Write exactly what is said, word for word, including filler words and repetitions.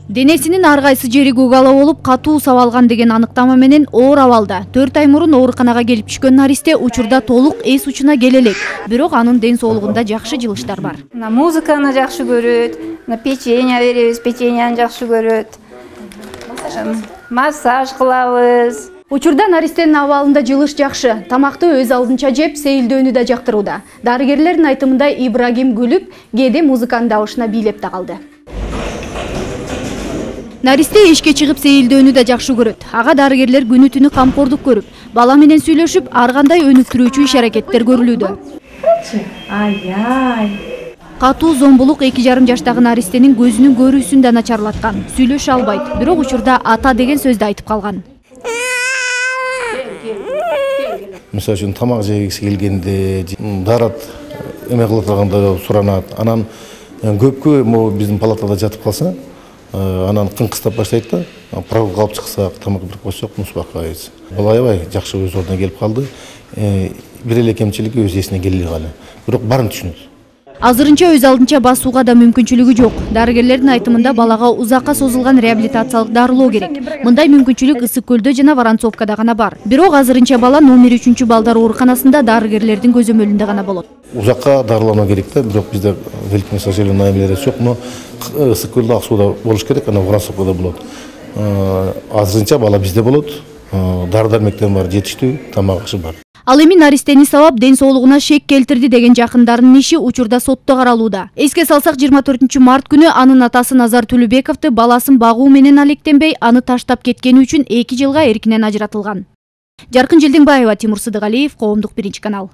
Денесинин ар кайсы жери көгала болуп, катуу сабалган деген аныктама менен оор абалда төрт ай мурун ооруканага келип түшкөн Наристе учурда толук эс учуна келе элек. Бирок анын ден соолугунда жакшы жылыштар бар. Музыканы жакшы көрөт, печенье беребиз, печеньяны жакшы көрөт. Массаж кылабыз. Учурда Наристенин абалында жылыш жакшы. Тамакты өз алдынча жеп, сейилдөөнү да жактырууда. Дарыгерлердин айтымында Ибрагим күлүп, кээде музыканын дабышына бийлеп да калды. Наристе эшикке чыгып сейилдөөнү да жакшы көрөт. Ага дарыгерлер күнү түнү камкордук көрүп, бала менен сүйлөшүп, ар кандай өнүктүрүүчү иш-аракеттер көрүлүүдө. Ай-ай. Катуу зомбулук эки жарым жаштагы Наристенин көзүнүн көрүүсүн да начарлаткан. Сүйлөшө албайт, бирок учурда ата деген сөздү айтып калган. Мисалы үчүн тамак жегиси келгенде, дарат эме кыла турганда суранат. Анан көпкө могу биздин палатада жатып калса, анан кыңкыстап баштайт да, прогулка алып чыксак, тамак берип койсок, мусбакка кайсы. Бала аябай жакшы өз ордуна келип калды. Бир эле кемчилиги өз эсине келе элек, бирок баарын түшүнөт. Азырынча өз алдынча басууга да мүмкүнчүлүгү жок. Дарыгерлердин айтымында балага узакка созулган реабилитациялык дарылоо керек. Мындай мүмкүнчүлүк Ысык көлдө жана Воронцовкада гана бар. Бирок азырынча бала номер үчүнчү балдар ооруканасында дарыгерлердин көзөмөлүндө гана болот. Узакка дарылануу керек да, бирок бизде великий сожалению эмелер жок, но Ысык көлдө ак сууда болуш керек, анан Воронцовкада болот. Азырынча бала бизде болот. Дары-дармектен бар, жетиштүү, тамак ашы бар. Ал эми Наристени сабап ден соолугуна шек келтирди деген жакындарынын иши учурда сотто каралууда. Эске салсак, жыйырма төртүнчү март күнү анын атасы Назар Төлөбековду баласын багуу менен алектенбей, аны таштап кеткени үчүн эки жылга эркинен ажыратылган. Жаркын Желденбаева, Тимур Сыдыгалиев, Коомдук биринчи канал.